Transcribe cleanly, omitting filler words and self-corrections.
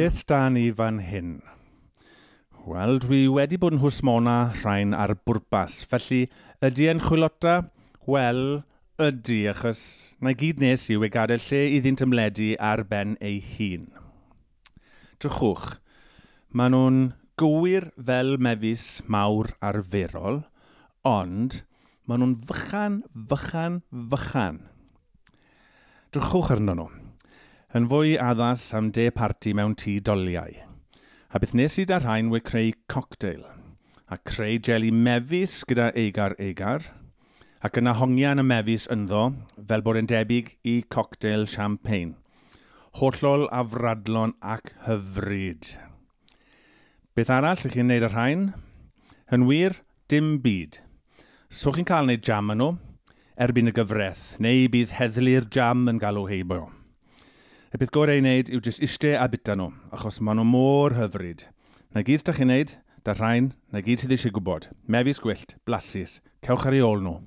Beth da ni fan hyn? Wel, dwi wedi bod yn hwsmona rhain ar bwrpas, felly ydy e'n chwilota? Wel, ydy, achos na i gyd nes i yw e gadael lle iddynt ymledu ar ben ei hun. Drychwch, maen nhw'n gywir fel mefus mawr arferol, ond maen nhw'n fychan, fychan, fychan. Drychwch arno nhw. Yn fwy addas am de parti mewn tŷ doliau. A beth nes i da rhain we creu cocktail. A creu jeli mefus gyda eigar eigar. Ac yna hongian y mefus ynddo, fel bod e'n debyg i cocktail champagne. Hollol afradlon ac hyfryd. Beth arall ych chi'n neud ar rhain? Yn wir, dim byd. So chi'n cael neud jam yn nhw, erbyn y gyfraith, neu bydd heddlu'r jam yn galw heibio. Y peth gorau i wneud yw jyst iste a bita nhw, achos maen nhw mor hyfryd. Na gyd da chi'n neud, da rhain, na gyd sydd eisiau gwybod. Mefus gwyllt, blasus, cewch ar ei ôl nhw.